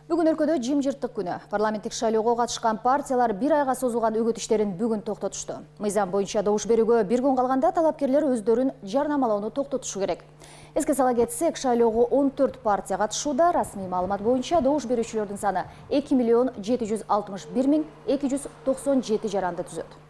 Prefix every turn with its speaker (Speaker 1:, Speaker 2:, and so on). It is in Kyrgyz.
Speaker 1: Бүгүн өлкөдө жымжырттык күнү. Парламенттик шайлоого катышкан партиялар бир айга созулган өгөт иштерин бүгүн токтотушту. Мыйзам боюнча добуш берүүгө бир күн калганда талапкерлер өздөрүн жарнамалоону токтотушу керек. Эске сала кетсек, шайлоого 14 партия катышууда. Расмий маалымат боюнча добуш берүүчүлөрдүн саны 2 761 297 жаранды түзөт.